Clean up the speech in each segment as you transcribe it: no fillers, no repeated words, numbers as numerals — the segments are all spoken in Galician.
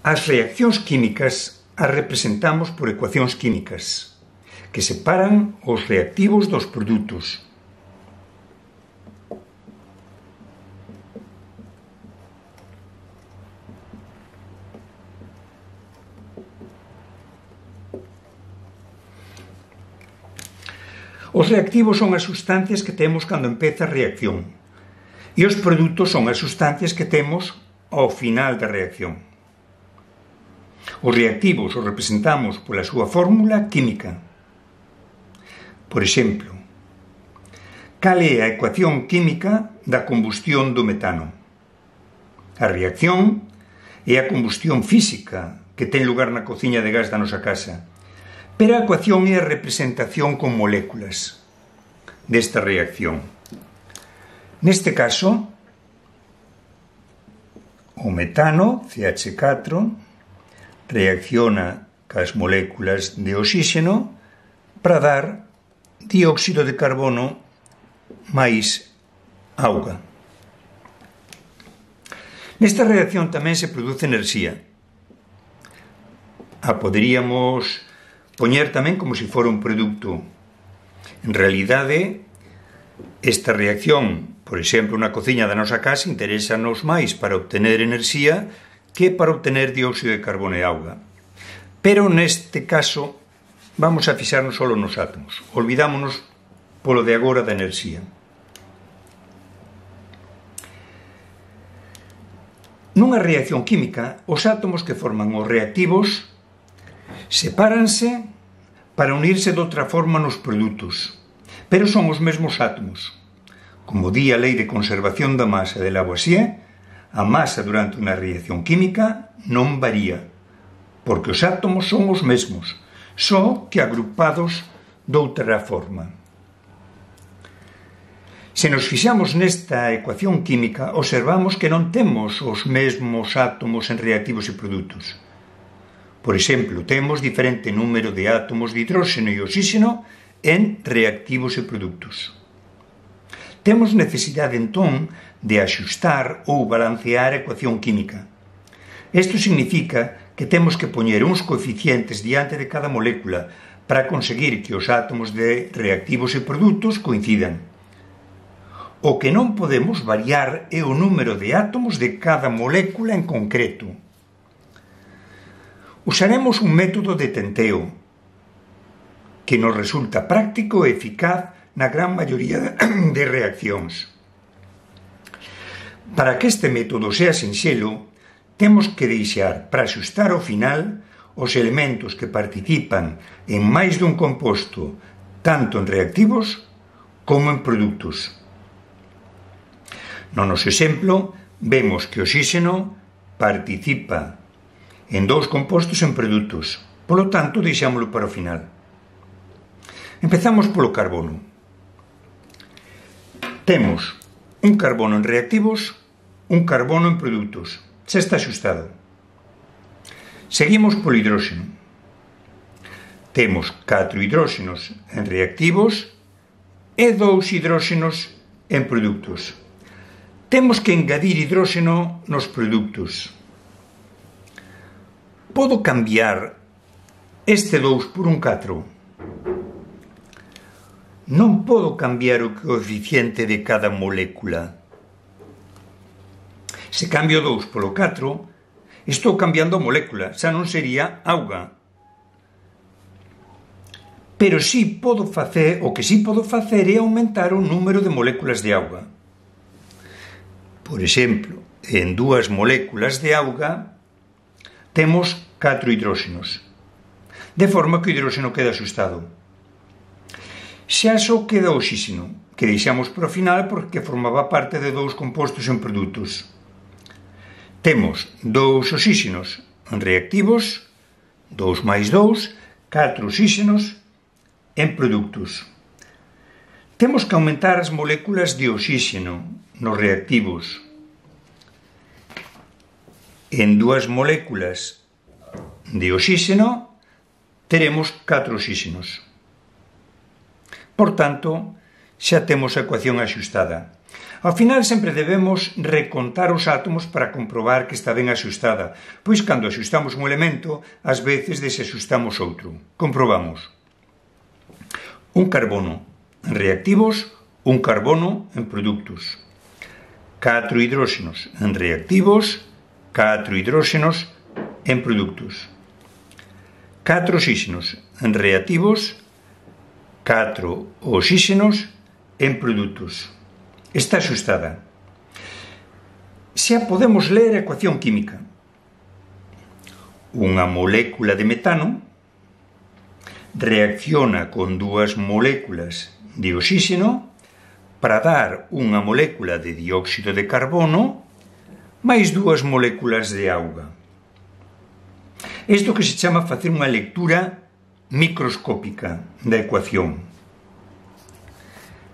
As reaccións químicas as representamos por ecuacións químicas, que separan os reactivos dos produtos. Os reactivos son as sustancias que temos cando empeza a reacción e os produtos son as sustancias que temos ao final da reacción. Os reactivos os representamos pola súa fórmula química. Por exemplo, cal é a ecuación química da combustión do metano? A reacción é a combustión física que ten lugar na cociña de gas da nosa casa, pero a ecuación é a representación con moléculas desta reacción. Neste caso, o metano, CH4, reacciona cas moléculas de oxígeno para dar dióxido de carbono máis auga. Nesta reacción tamén se produce enerxía. A poderíamos poñer tamén como se fora un produto. En realidade, esta reacción, por exemplo, na cociña da nosa casa, interésanos máis para obtener enerxía que para obtener dióxido de carbono e auga. Pero neste caso vamos a fixarnos só nos átomos. Olvidámonos polo de agora da enerxía. Nunha reacción química, os átomos que forman os reactivos sepáranse para unirse de outra forma nos produtos, pero son os mesmos átomos. Como di a lei de conservación da masa de Lavoisier, a masa durante unha reacción química non varía, porque os átomos son os mesmos, só que agrupados doutra forma. Se nos fixamos nesta ecuación química, observamos que non temos os mesmos átomos en reactivos e produtos. Por exemplo, temos diferente número de átomos de hidróxeno e oxígeno en reactivos e produtos. Temos necesidade, entón, de axustar ou balancear a ecuación química. Isto significa que temos que poñer uns coeficientes diante de cada molécula para conseguir que os átomos de reactivos e produtos coincidan. O que non podemos variar é o número de átomos de cada molécula en concreto. Usaremos un método de tenteo que nos resulta práctico e eficaz na gran maioría de reaccións. Para que este método sea sinxelo, temos que deixar para axustar ao final os elementos que participan en máis dun composto, tanto en reactivos como en produtos. No noso exemplo, vemos que o oxígeno participa en dous compostos en produtos, polo tanto, deixámoslo para o final. Empezamos polo carbono. Temos un carbono en reactivos, un carbono en produtos. Xa está axustado. Seguimos polo hidróxeno. Temos 4 hidróxenos en reactivos e 2 hidróxenos en produtos. Temos que engadir hidróxeno nos produtos. Podo cambiar este 2 por un 4? Non podo cambiar o coeficiente de cada molécula. Se cambio 2 polo 4, estou cambiando a molécula, xa non sería auga. Pero o que sí podo facer é aumentar o número de moléculas de auga. Por exemplo, en 2 moléculas de auga temos 4 hidróxenos, de forma que o hidróxeno queda axustado. Xa só queda o oxígeno, que deixamos para o final porque formaba parte de 2 compostos en produtos. Temos 2 oxígenos en reactivos, 2 máis 2, 4 oxígenos en produtos. Temos que aumentar as moléculas de oxígeno nos reactivos. En 2 moléculas de oxígeno teremos 4 oxígenos. Por tanto, xa temos a ecuación axustada. Ao final sempre debemos recontar os átomos para comprobar que está ben axustada, pois cando axustamos un elemento, ás veces desaxustamos outro. Comprobamos. Un carbono en reactivos, un carbono en produtos. 4 hidróxenos en reactivos, 4 hidróxenos en produtos. 4 oxígenos en reactivos, 4 oxígenos en produtos. Está axustada. Xa podemos ler a ecuación química. Unha molécula de metano reacciona con dúas moléculas de oxígeno para dar unha molécula de dióxido de carbono máis dúas moléculas de auga. Isto que se chama facer unha lectura microscópica da ecuación.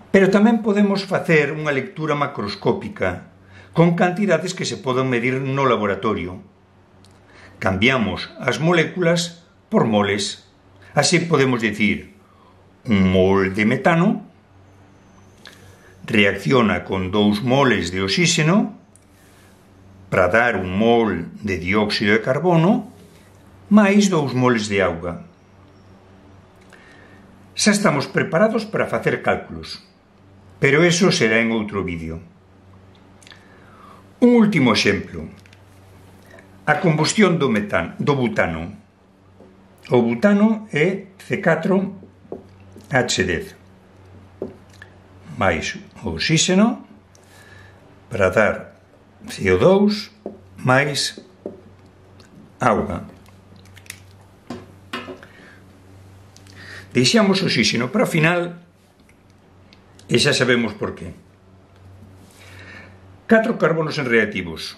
Pero tamén podemos facer unha lectura macroscópica con cantidades que se poden medir no laboratorio. Cambiamos as moléculas por moles. Así podemos dicir, un mol de metano reacciona con 2 moles de oxígeno para dar un mol de dióxido de carbono máis 2 moles de auga. Xa estamos preparados para facer cálculos, pero eso será en outro vídeo. Un último exemplo. A combustión do butano. O butano é C4H10 máis o oxígeno para dar CO2 máis auga. Deixamos o oxígeno para o final e xa sabemos por qué. 4 carbonos en reactivos.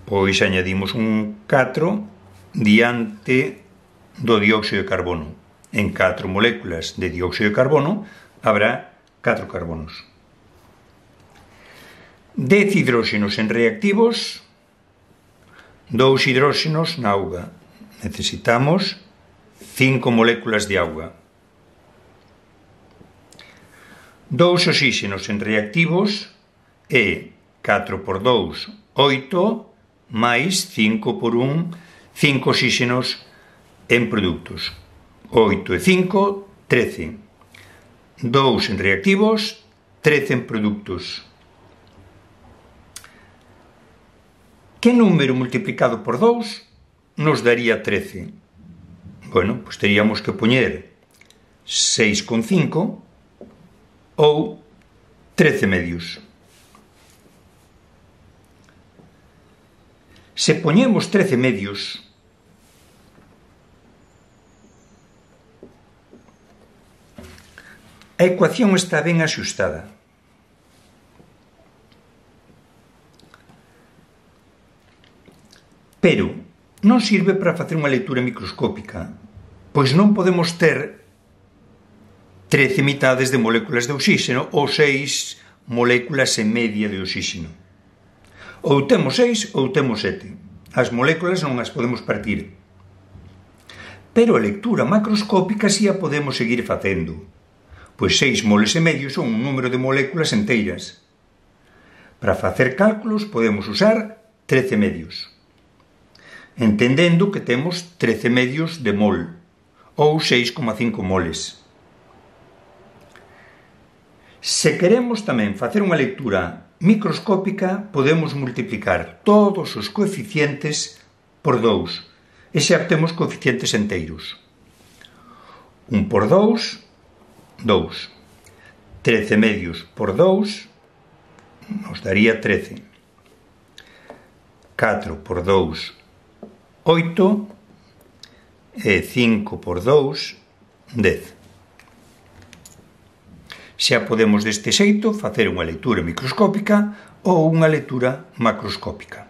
Pois añadimos un 4 diante do dióxido de carbono. En 4 moléculas de dióxido de carbono habrá 4 carbonos. 10 hidróxenos en reactivos, 2 hidróxenos na auga. Necesitamos 5 moléculas de auga. 2 oxígenos en reactivos e 4 por 2, 8, máis 5 por 1, 5 oxígenos en produtos. 8 e 5, 13. 2 en reactivos, 13 en productos. Que número multiplicado por 2 nos daría 13? Bueno, pues teríamos que poñer 6,5 ou 13 medios. Se poñemos 13 medios, a ecuación está ben axustada. Pero non sirve para facer unha lectura microscópica, pois non podemos ter 13 mitades de moléculas de oxígeno ou 6 moléculas e media de oxígeno. Ou temos 6 ou temos 7. As moléculas non as podemos partir. Pero a lectura macroscópica si a podemos seguir facendo, pois 6 moles e medio son un número de moléculas enteiras. Para facer cálculos podemos usar 13 medios, entendendo que temos 13 medios de mol, ou 6,5 moles. Se queremos tamén facer unha lectura microscópica, podemos multiplicar todos os coeficientes por 2, e xa obtemos coeficientes enteiros. 1 por 2, 2. 13 medios por 2 nos daría 13. 4 por 2, 8. E 5 por 2, 10. Xa podemos deste xeito facer unha lectura microscópica ou unha lectura macroscópica.